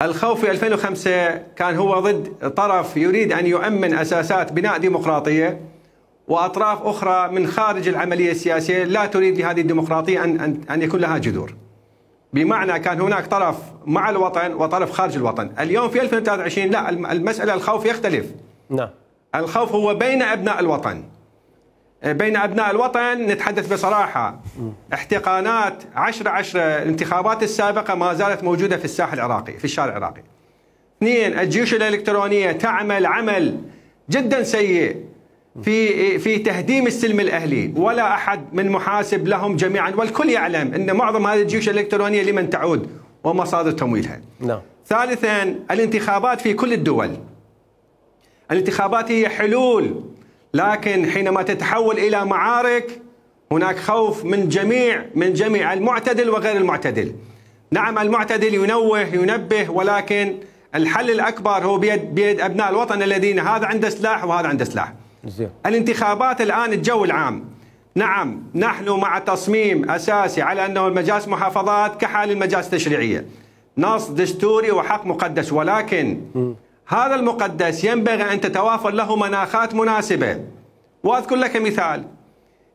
الخوف في 2005 كان هو ضد طرف يريد أن يؤمن أساسات بناء ديمقراطية، وأطراف أخرى من خارج العملية السياسية لا تريد لهذه الديمقراطية أن يكون لها جذور. بمعنى كان هناك طرف مع الوطن وطرف خارج الوطن. اليوم في 2023 لا، المسألة الخوف يختلف. نعم. الخوف هو بين أبناء الوطن. بين أبناء الوطن نتحدث بصراحة. احتقانات 10/10 الانتخابات السابقة ما زالت موجودة في الساحة العراقي، في الشارع العراقي. اثنين، الجيوش الإلكترونية تعمل عمل جدا سيء في تهديم السلم الأهلي، ولا أحد من محاسب لهم جميعا، والكل يعلم أن معظم هذه الجيوش الإلكترونية لمن تعود ومصادر تمويلها. نعم. ثالثا، الانتخابات في كل الدول. الانتخابات هي حلول، لكن حينما تتحول إلى معارك هناك خوف من جميع المعتدل وغير المعتدل. نعم، المعتدل ينبه، ولكن الحل الأكبر هو بيد أبناء الوطن الذين هذا عنده سلاح وهذا عنده سلاح. الانتخابات الآن الجو العام، نعم نحن مع تصميم أساسي على أنه المجالس محافظات كحال المجالس التشريعية، نص دستوري وحق مقدس، ولكن هذا المقدس ينبغي أن تتوافر له مناخات مناسبة. وأذكر لك مثال،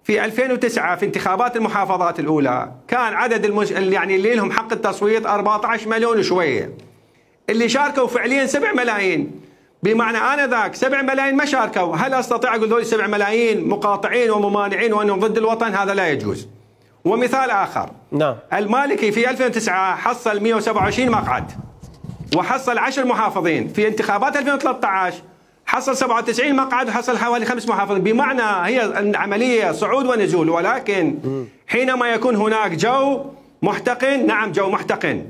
في 2009 في انتخابات المحافظات الأولى كان عدد يعني اللي لهم حق التصويت 14 مليون وشوية، اللي شاركوا فعليا 7 ملايين. بمعنى آنذاك 7 ملايين ما شاركوا. هل أستطيع أقول ذول 7 ملايين مقاطعين وممانعين وأنهم ضد الوطن؟ هذا لا يجوز. ومثال آخر، نعم، المالكي في 2009 حصل 127 مقعد وحصل 10 محافظين. في انتخابات 2013 حصل 97 مقعد وحصل حوالي 5 محافظين. بمعنى هي العملية صعود ونزول، ولكن حينما يكون هناك جو محتقن، نعم جو محتقن.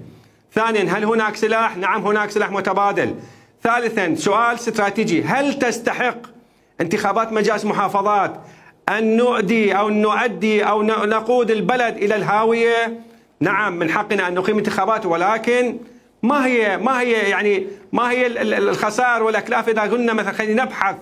ثانيا، هل هناك سلاح؟ نعم هناك سلاح متبادل. ثالثا، سؤال استراتيجي، هل تستحق انتخابات مجالس محافظات أن نؤدي أو نقود البلد إلى الهاوية؟ نعم من حقنا أن نقيم انتخابات، ولكن ما هي الخسائر والأكلاف إذا قلنا مثلا خلينا نبحث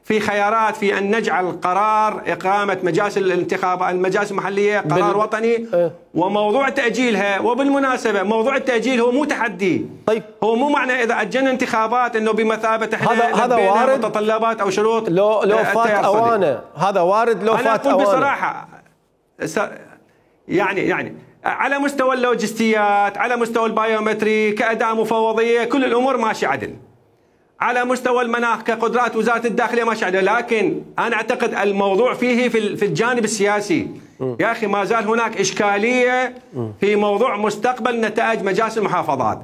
في خيارات في أن نجعل قرار إقامة مجالس الانتخابات المجالس المحلية قرار وطني، وموضوع تأجيلها. وبالمناسبة موضوع التأجيل هو مو تحدي. طيب، هو مو معنى إذا أجلنا انتخابات إنه بمثابة احنا هذا وارد متطلبات أو شروط لو فات أوانه. هذا وارد لو فات أوانه. بصراحة يعني على مستوى اللوجستيات، على مستوى البايومتري، كأداة مفوضية، كل الأمور ماشية عدل. على مستوى المناخ كقدرات وزارة الداخلية ماشية عدل. لكن أنا أعتقد الموضوع فيه في الجانب السياسي. يا أخي ما زال هناك إشكالية في موضوع مستقبل نتائج مجالس المحافظات.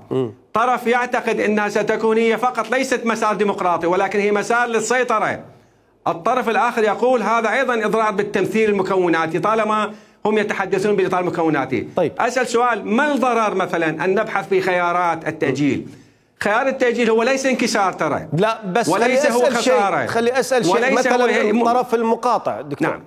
طرف يعتقد أنها ستكون هي فقط ليست مسار ديمقراطي، ولكن هي مسار للسيطرة. الطرف الآخر يقول هذا أيضا إضرار بالتمثيل المكوناتي طالما هم يتحدثون بإطار مكوناتي. طيب، أسأل سؤال، ما الضرر مثلا أن نبحث في خيارات التأجيل؟ خيار التأجيل هو ليس انكسار ترى، لا بس وليس هو خسارة. خلي أسأل شيء مثلا الطرف المقاطع دكتور. نعم.